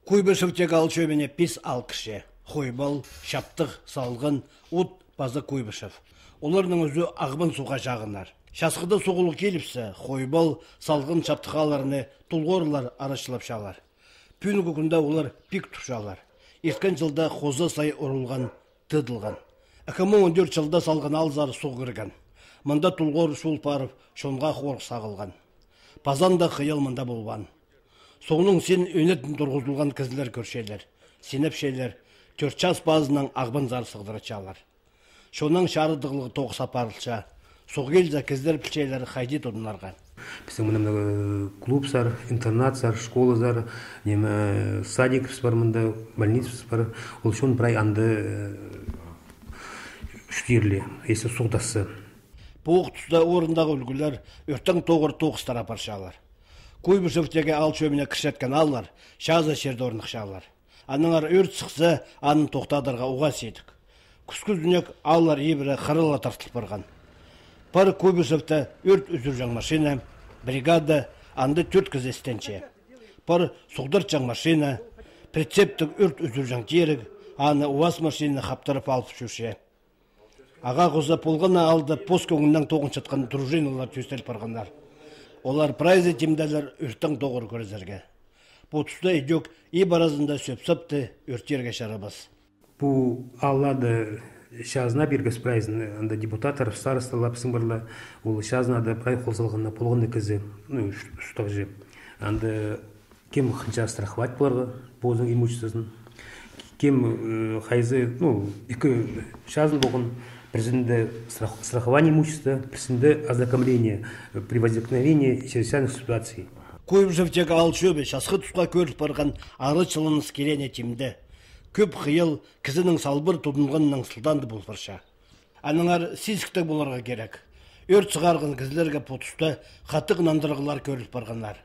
Куйбышевтегі алчөбене пис алкыше. Хойбал, шаптық, салғын, ұт, базы Куйбышев. Олардың өзі ағбын суға жағынар. Шасқыда соғылы келіпсі, хойбал, салғын шаптықаларыны тұлғорлар арашылап шалар. Пүйіні күнде олар пик тұшалар. Ерткен жылда қозы сай ұрылған, тыдылған. 2014 жылда салған алзар соғырған. Мында тұлғор шул парып, шонға қорық сағылған. Пазанда қиял мында болған. Соғының сен өнетін тұрғызылған кізілер көршелер. Сенеп шелер, 4 час базынан ағбын зар сығдыры чалар. Шонның шарыдығылығы тоғы сапарылша. Соғелді кіздер пілчейлері қайды тұдынарға. Біздің мұнда клуб сар, интернат сар, школа сар, садик бар мұнда, больница бар. Ол шон бірай анды үштерлі, есі соғдасы. Бұғы тұста орындағы үлгілер өрттің тоғыр тоғыстар апаршалар. Куйбышевтегі алчөбіне кіршеткен аллар, шаза шерді орнықшалар. Аныңар өрт сықсы, анын тоқтадырға уға сейдік. Күскүздінек аллар ебірі қырыла тартылып барған. Пар Куйбышевті өрт үзір жаң машина, бригада, анды 4 кіз естенче. Пар сұғдыр жаң машина, прицептік өрт үзір жаң терік, аны уаз машина қаптырып алып шүше. Аға ғызы полғана алды пост көңіннен тоғын шатқан дружиналар төстеліп барғандар. Олар прайзы темдәлер өрттің тоғыр көрізерге. Бұл тұста едек ей баразында сөп-сөпті өрттерге шарабас. Бұл аллады шазына бергіз прайзын, анда депутатар, старосталар сыңбарлы, ол шазнада прай қолсалғанна полғынды кізі, ұстақ жеп. Анда кем қынша страховать бұларға, болзың имуществосын. Кем қайзы, екі шазын болғын, президенты страхование имущества, президенты ознакомление при возникновении чрезвычайных ситуаций. Куйбышевтегі алчөбе шасқы тұсқа көріп барған ары чылыныз керене темді. Көп қиыл кізінің салбыр тұдынғанның сылданды бұл бірша. Аныңар сискітік боларға керек. Өрт сығарғын кізлерге потыста қатық нандырғылар көріп барғанлар.